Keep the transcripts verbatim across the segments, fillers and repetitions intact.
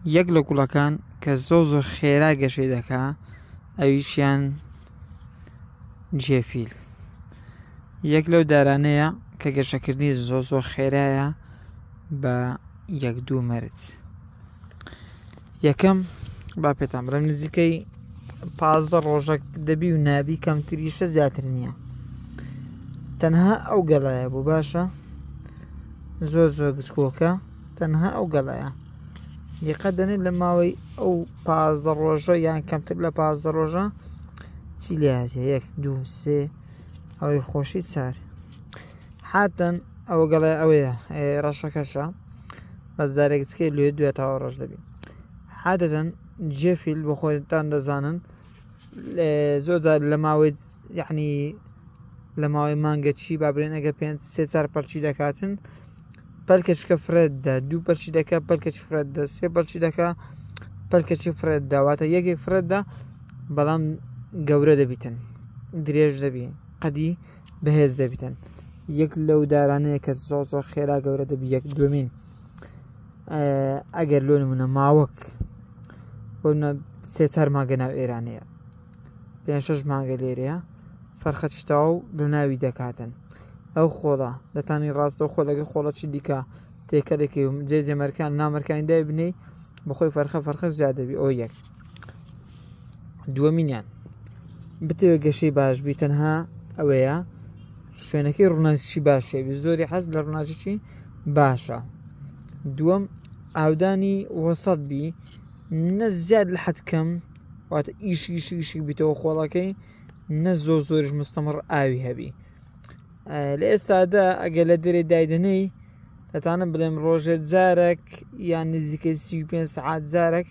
یەک لە گوڵەکان کە زۆر زۆر خێرا گەشەی دەکا ئەویشیان جێفیل یەک لەو دارانەیە کە گەشەکردنی زۆر زۆر خێرایە بە یەک دوو مەرج. یەکەم با پێتان بڵێم نزیکەی پازدە ڕۆژەک دەبی و نابی کەمتریشە زیاتر نییە، تەنها ئەو گەڵایە بوو. باشە زۆر زۆر گچکۆکە، تەنها ئەو گەڵایە. دیقەت دەنێت لە ماوەی ئەو پازدە ڕۆژە یان کەمتر لە پازدە ڕۆژە چی لێهاتیە؟ یەک دوو سێ ئەوەی خۆشی چار. حاتەن ئەوە گەڵای ئەوەیە ڕەشەکەشە، بەس جارێک گچکەی لێ دوێ تاوە ڕەش دەبی. عادەتەن جێفیل بۆ خۆتان دەزانن زۆر جار لە ماوەی یعنی لە ماوەی مانگە چی با بڵێن ئەگەر پێنج سێ چار پەرچی دەکاتن، پەلکەچکە فرێت دە، دوو پەرچی دەکە پەلکەچی فرێت دە، سێ پەرچی دەکە پەلکەچی فرێت دە، واتە یەکێک فرێت دە بەڵام گەورە دەبیتن، درێژ دەبی، قەدی بەهێز دەبیتن. یەک لەو دارانەیە کە زۆر زۆر خێرا گەورە دەبی. یەک دومین ئەگەر لۆ نمونە ماوەک بۆ سێ چار مانگە ناو ئێرانەیە، پێنج شەش مانگە لێرەیە، فەرخەچی تەواو لە ناوی دەکاتن. ئەو خۆڵە دەتانی ڕاستەوە خۆ لەگەڵ خۆڵەکی دیکە تێکەڵێکی جێ جێمەرکان نامەرکانی دای بنەی بەخۆی فەرخە فەرخە زیاد دەبی. ئەو یەک. دووەمینیان بتەوێت گەشەی باش بی تەنها ئەوەیە شوێنەکەی ڕووناکی باش بی، زۆری حەز لە ڕووناکی باشە. دووەم ئاودانی وەسەت بی، نە زیاد لە حەد کەم، واتە ئیشی ئیشی ئیشی بیتەوە خۆڵەکەی، نە زۆر زۆریش مستەمڕ ئاوی هەبی. لە ئێستادا ئەگەر لە دەرێ دایدەنەی دەتانم بڵێم ڕۆژێ جارێک یان نزیکەی سی و پێنج سەعات جارێک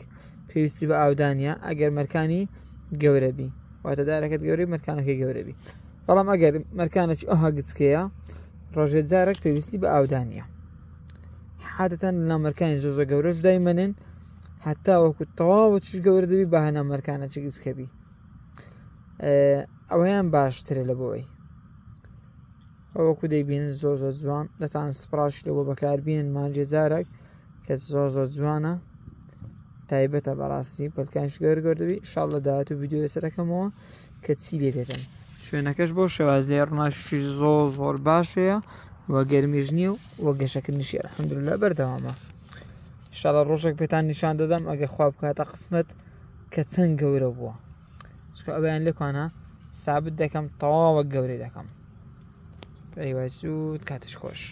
پێویستی بە ئاودانیە ئەگەر مەرکانی گەورە بی، واتە دارەکەت گەورەی مەرکانەکەی گەورە بی. بەڵام ئەگەر مەرکانێکی ئەوها گچکەیە ڕۆژێ جارێک پێویستی بە ئاودانیە. عادەتەن لە نامەرکانی زۆر زۆر گەورەش دایمەنن هەتا وەکو تەواوە چیش گەورە دەبی بە هەنامەرکانەکی گچکە بی. ئەوەیان باشترە لە بۆی. ئەوەکو دەیبینن زۆر زۆر جوان، دەتان سپراشی لەوە بەکاربینن مانجێ جارێک کە زۆر زۆر جوانە، تایبەتە بەڕاستی پەلکانش گەور گەور دەبی. ئینشاڵڵا داهاتوو ڤیدیۆ لەسەر دەکەمەوە کە چی لێ دێتن. شوێنەکەش بۆ شێوازەیە ڕووناکی زۆر زۆر باشەیە و گەرمیش نییە و گەشەکردنیشی ئەلحەمدولillah بەردەوامە. ئینشاڵڵا ڕۆژێک پێتان نیشان دەدەم ئەگەر خوا بکاتە قسمەت کە چەند گەورە بووە، چونکە ئەویان لێکوانە سابت دەکەم تەواوە گەورەی دەکەم. ئەیوای سوود، کاتش خۆش.